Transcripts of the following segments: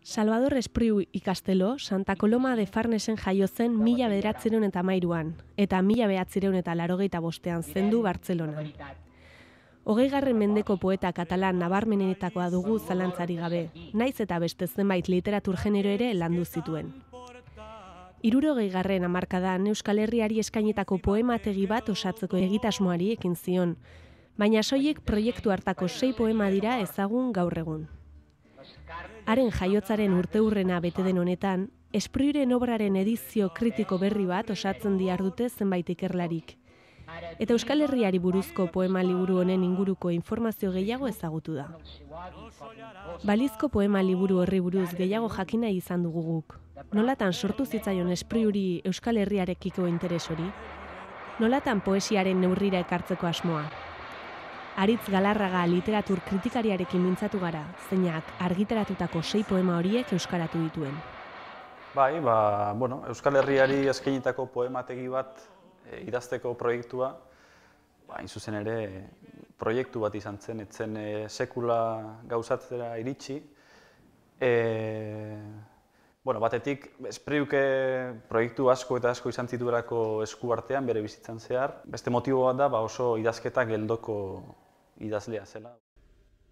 Salvador Espriu ikastelo Santa Coloma de Farnesen jaio zen 1913an eta 1985ean zendu Bartzelonan. 20. mendeko poeta katalan nabarmenenetakoa dugu zalantzari gabe, naiz eta beste zenbait literatur genero ere landu zituen. 60. hamarkadan Euskal Herriari eskainitako poemategi bat osatzeko egitasmoari ekin zion, baina soilik proiektu hartako 6 poema dira ezagun gaur egun. Haren jaiotzaren urteurrena bete den honetan, Espriuren obraren edizio kritiko berri bat osatzen dihardute zenbait ikerlarik. Eta Euskal Herriari buruzko poema liburu honen inguruko informazio gehiago ezagutu da. Balizko poema liburu horri buruz gehiago jakina izan dugu guk. Nolatan sortu zitzaion Espriuri Euskal Herriarekiko interes hori? Nolatan poesiaren neurrira ekartzeko asmoa? Aritz Galarraga literatur kritikariarekin mintzatu gara, zeinak argitaratutako 6 poema horiek euskaratu dituen. Bai, Euskal Herriari eskainitako poemategi bat idazteko proiektua, hain zuzen ere proiektu bat izan zen, etzen sekula gauzatzera iritsi. Batetik, Espriuke proiektu asko eta asko izan zituelako esku artean bere bizitzan zehar. Beste motibo bat da oso idazketa geldoko idazlea zela.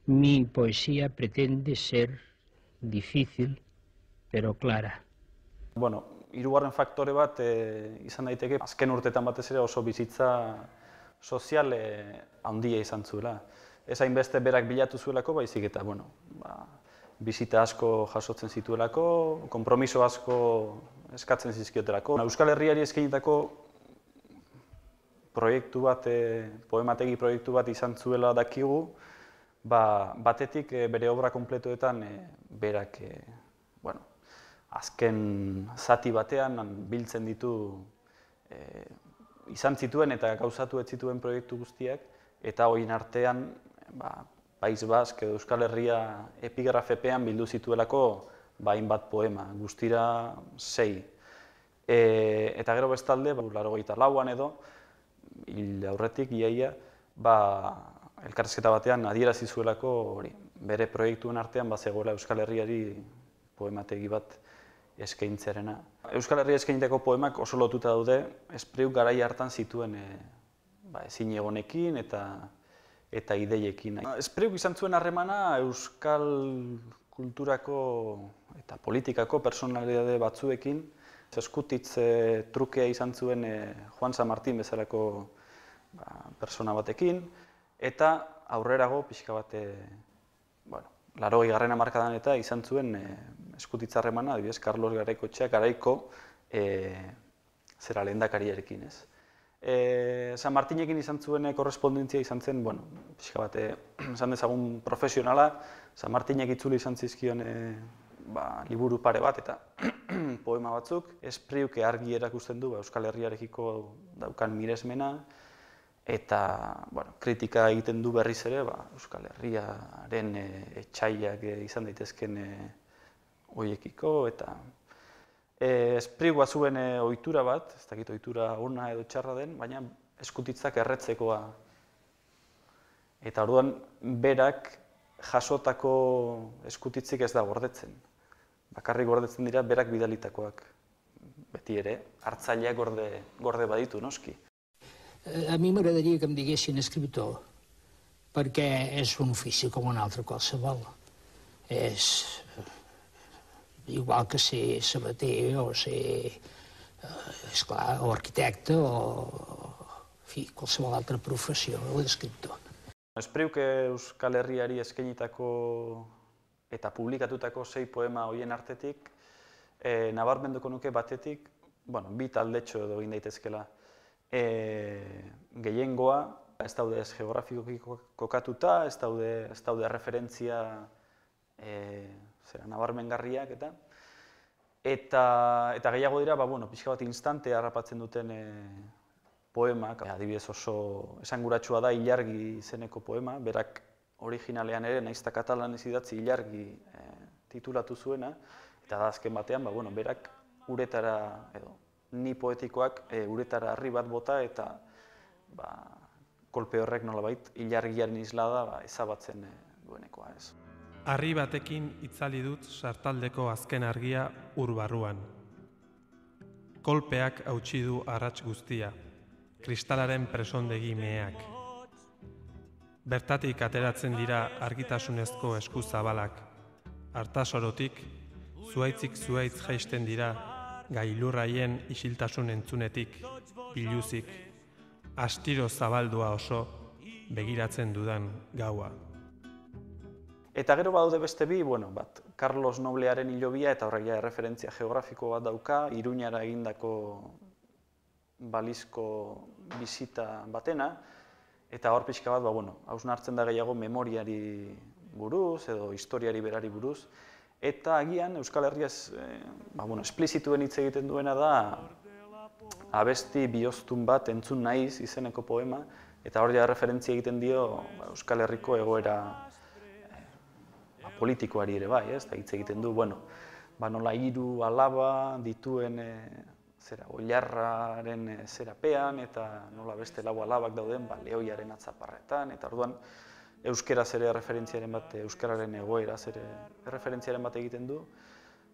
Mi poesía pretende ser difícil, pero clara. Hirugarren faktore bat izan daiteke, azken urtetan batez ere oso bizitza sozial handia izan zuela. Ez hainbeste berak bilatu zuelako, baizik eta bizita asko jasotzen zituelako, konpromiso asko eskatzen zizkiotelako. Euskal Herriari eskainitako proiektu bat, poemategi proiektu bat izan zuela dakigu, batetik bere obra konpletuetan berak azken zati batean biltzen ditu izan zituen eta gauzatu ez zituen proiektu guztiak, eta horien artean País Bask edo Euskal Herria epigrafepean bildu zituelako hainbat poema, guztira 6. Eta gero bestalde, 84an edo, hil aurretik, iaia, elkarrizketa batean adierazi zuelako bere proiektuen artean zegoela Euskal Herriari poemategi bat eskaintzearena. Euskal Herria eskainitako poemak oso lotuta daude, Espriuk garai hartan zituen ezinegonekin eta ideiekin. Espriuk izan zuen harremana Euskal kulturako eta politikako personalitate batzuekin. Eskutitz trukea izan zuen Juan San Martín bezalako persona batekin, eta aurrerago pixka bat 80. hamarkadan eta izan zuen eskutitz harremana, adibidez, Carlos Garaikoetxea garaiko lehendakariarekin. San Martinekin izan zuen korrespondentzia izan zen, pixka bat, esan dezagun profesionala, San Martinek itzuli izan zizkion liburu pare bat eta poema batzuk. Espriuk argi erakusten du Euskal Herriarekiko daukan miresmena, eta kritika egiten du berriz ere Euskal Herriaren etsaiak izan daitezken horiekiko, eta Espriuk bazuen ohitura bat, ez dakit ohitura ona edo txarra den, baina eskutitzak erretzekoa. Eta orduan berak jasotako eskutitzik ez da gordetzen. Bakarrik gordetzen dira berak bidalitakoak. Beti ere, hartzaileak gorde baditu, noski. A mi m'agradaria que em diguessin escriptor, perquè és un ofici com un altre qualsevol. És igual que ser sabater o ser, esclar, o arquitecte o qualsevol altra professió, l'escriptor. Espriuk Euskal Herriari eskainitako eta publikatutako 6 poema horien artetik, nabarmenduko nuke batetik, bi taldetxo edo egin daitezkela. Gehiengoa, ez daude ez geografikoki kokatuta, ez daude referentzia nabarmengarriak eta gehiago dira, pixka bat instante harrapatzen duten poemak. Adibidez oso esanguratsua da Ilargi izeneko poema, berak originalean ere, nahiz eta katalanez idatzi Ilargi titulatu zuena, eta da azken batean, berak uretara, edo ni poetikoak uretara harri bat bota eta kolpe horrek nolabait Ilargiaren islada ezabatzen duenekoa ez. Harri batekin itzali dut sartaldeko azken argia ur barruan. Kolpeak hautsi du arrats guztia, kristalaren presondegi meheak. Bertatik ateratzen dira argitasunezko esku zabalak. Artasorotik, zuaitzik zuaitz jaisten dira, gailurraien isiltasun entzunetik, biluzik, astiro zabaldua oso, begiratzen dudan gaua. Eta gero badaude beste bi, bat Carlos Noblearen hilobia eta horrek ja referentzia geografiko bat dauka, Iruñara egindako balizko bisita batena, eta hor pixka bat, hausnartzen da gehiago memoriari buruz edo historiari berari buruz, eta agian Euskal Herriaz esplizituen hitz egiten duena da abesti bihoztun bat entzun naiz izeneko poema, eta hor ja referentzia egiten dio Euskal Herriko egoera politikoari ere bai, eta hitz egiten du, nola 3 alaba dituen oilarraren zerapean, eta nola beste 4 alabak dauden lehoiaren atzaparretan, eta orduan euskeraz ere referentziaren bat, euskararen egoeraz ere referentziaren bat egiten du,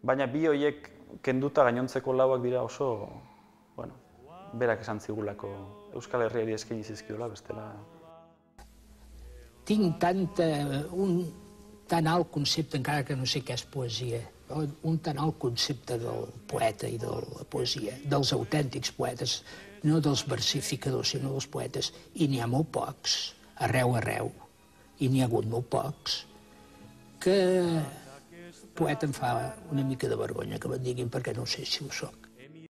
baina bi horiek kenduta gainontzeko 4ak dira oso, berak esan zigulako Euskal Herriari eskaini zizkiola, bestela. Tinc tan alt concepte, encara que no sé què és poesia, un tan alt concepte del poeta i de la poesia, dels autèntics poetes, no dels versificadors, sinó dels poetes, i n'hi ha molt pocs, arreu, i n'hi ha hagut molt pocs, que poeta em fa una mica de vergonya que me'n diguin perquè no sé si ho soc.